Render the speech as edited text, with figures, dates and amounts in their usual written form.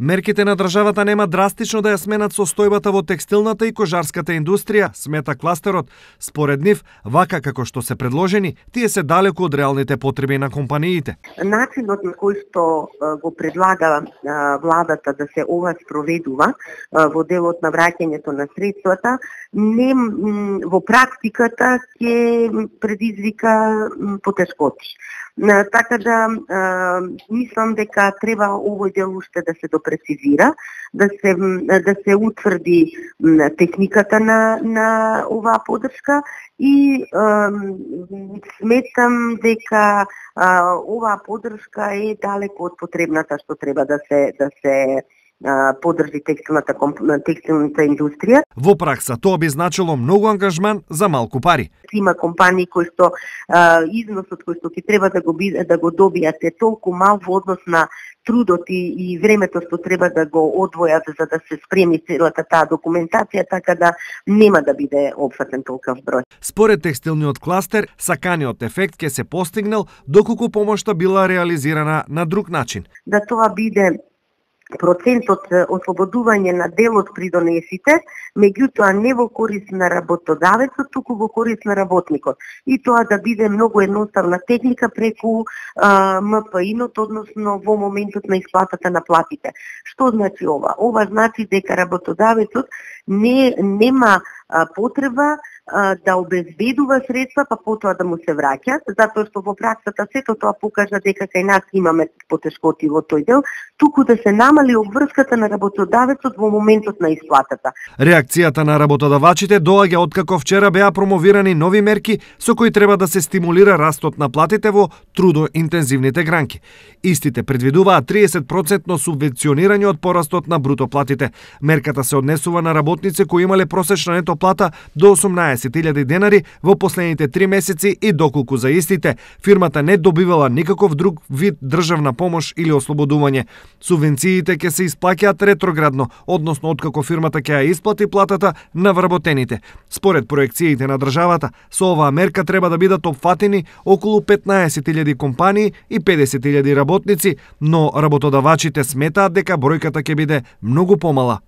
Мерките на државата нема драстично да ја сменат состојбата во текстилната и кожарската индустрија, смета кластерот. Според нив, вака како што се предложени, тие се далеку од реалните потреби на компаниите. Начинот на кој што го предлага владата да се ова спроведува во делот на враќањето на средствата, не во практиката ќе предизвика потешкоти. Така да мислам дека треба овој дел уште да се допрецизира, да се утврди техниката на оваа поддршка и сметам дека оваа поддршка е далеку од потребната што треба да се поддржи текстилната индустрија. Во пракса тоа би значило многу ангажман за малку пари. Има компании кои што износот кој што ќе треба да го добијат е толку мал во однос на трудот и времето што треба да го одвојат за да се спреми целата таа документација, така да нема да биде опфатен толков број. Според текстилниот кластер, саканиот ефект ќе се постигнал доколку помошта била реализирана на друг начин. Да тоа биде процентот ослободување на дел од придонесите, меѓутоа не во корист на работодавецот, туку во корист на работникот. И тоа да биде многу едноставна техника преку МПИ-нот, односно во моментот на исплатата на платите. Што значи ова? Ова значи дека работодавецот нема потреба да обезбедува средства, па потоа да му се враќат, затоа што во праксата сето тоа покажа дека кај нас имаме потешкоти во тој дел, туку да се намали обврската на работодавецот во моментот на исплатата. Реакцијата на работодавачите доаѓа откако вчера беа промовирани нови мерки со кои треба да се стимулира растот на платите во трудоинтензивните гранки. Истите предвидуваат 30% субвенционирање од порастот на бруто платите. Мерката се однесува на работници кои имале просечна нето плата до 18.000 денари во последните 3 месеци и доколку за истите фирмата не добивала никаков друг вид државна помош или ослободување. Субвенциите ќе се исплаќаат ретроградно, односно откако фирмата ќе ја исплати платата на вработените. Според проекциите на државата, со оваа мерка треба да бидат опфатени околу 15.000 компании и 50.000 работници, но работодавачите сметаат дека бројката ќе биде многу помала.